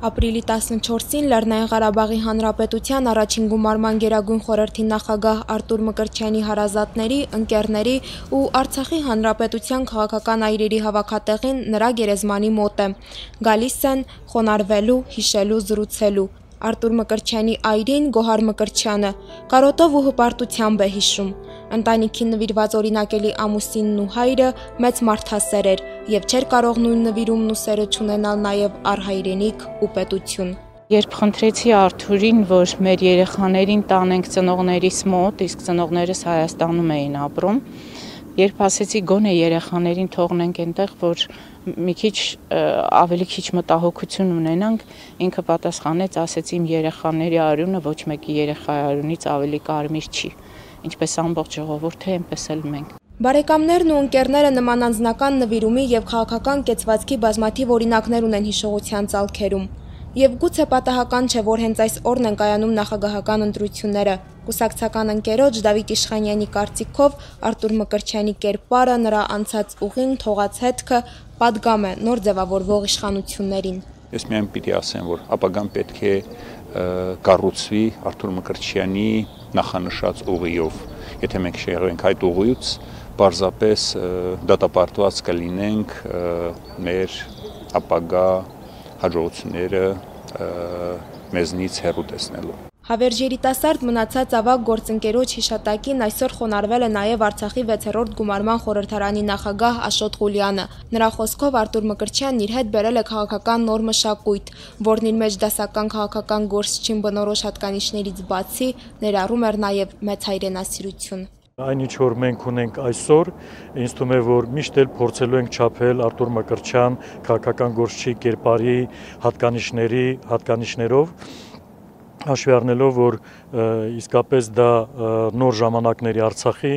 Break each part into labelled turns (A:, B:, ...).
A: Ապրիլի 14-ին Լեռնային Ղարաբաղի Հանրապետության առաջին գումարման գերագույն խորհրդի նախագահ Արտուր Մկրտչյանի հարազատների, ընկերների ու Արցախի Հանրապետության քաղաքական այրերի հավաքատեղին նրա գերեզմանի մոտ է։ Գալիս են խոնարհվելու, հիշելու, զրուցելու։ Արտուր Մկրտչյանի այրին Գոհար Մկրտչյանը կարոտով ու հպարտությամբ է հիշում։ Ընտանիքին նվիրված օրինակելի ամուսինն ու հայրը մեծ մարդասեր էր եւ չէր կարող նույն նվիրումն ու սերը չունենալ նաեւ առհայրենիք ու պետություն։
B: Երբ խնդրեցի Արթուրին, որ մեր երեխաներին տանենք ծնողներիս մոտ, իսկ ծնողներս Հայաստանում էին ապրում, երբ ասեցի գոնե երեխաներին թողնենք այնտեղ, որ մի քիչ ավելի քիչ մտահոգություն ունենանք, ինքը պատասխանեց, ասեց իմ երեխաների արյունը ոչ մեկի երեխայի արյունից ավելի կարմիր չի, ինչպես ամբողջ ժողովուրդը, այնպես էլ մենք։
A: Բարեկամներն ու ընկերները նման անձնական նվիրումի եւ քաղաքական կեցվածքի բազմաթիվ օրինակներ ունեն հիշողության ցալքերում։ Եվ գուցե պատահական չէ, որ հենց այս օրն են կայանում նախագահական ընտրությունները։ Կուսակցական ընկերոջ Դավիթ Իշխանյանի կարծիքով Արտուր Մկրտչյանի կերպարը, նրա անցած ուղին, թողած հետքը պատգամ է նոր ձևավորվող իշխանություններին։
C: Ես միայն պիտի ասեմ, որ ապագան պետք է կառուցվի Արտուր Մկրտչյանի նախանշած ուղիով։ Եթե մենք շեղվենք այդ ուղիից, պարզապես դատապարտված կլինենք մեր ապագա հաջողությունները մեզնից հեռու տեսնելու։
A: Հավերժ երիտասարդ մնացած ավագ գործընկերոջ հիշատակին այսօր խոնարհվել է նաև Արցախի 6-րդ գումարման խորհրդարանի նախագահ Աշոտ Ղուլյանը։ Նրա խոսքով Արտուր Մկրտչյանն իր հետ բերել է քաղաքական նոր մշակույթ, որն իր մեջ դասական քաղաքական գործչին բնորոշ հատկանիշներից բացի ներառում էր նաև մեծ հայրենասիրություն։
D: Այն ինչ որ մենք ունենք այսօր, ինձ թվում է, որ միշտ էլ փորձելու ենք չափել Արտուր Մկրտչյան քաղաքական գործչի կերպարի հատկանիշներով, հաշվի առնելով, որ իսկապես դա նոր ժամանակների Արցախի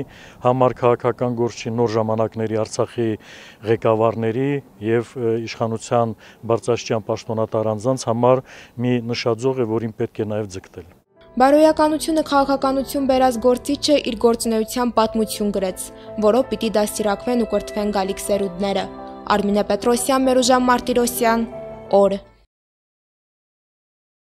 D: համար քաղաքական գործչի, նոր ժամանակների Արցախի ղեկավարների եւ իշխանության բարձրաստիճան պաշտոնատար անձանց համար մի նշաձող է, որին պետք է նաեւ ձգտել։
A: Բարոյականությունը քաղաքականություն բերած գործիչը իր գործունեության պատմություն գրեց, որով պիտի դաստիարակվեն ու կրթվեն գալիք սերունդները։ Արմինե Պետրոսյան, Մերուժան Մարտիրոսյան, օր։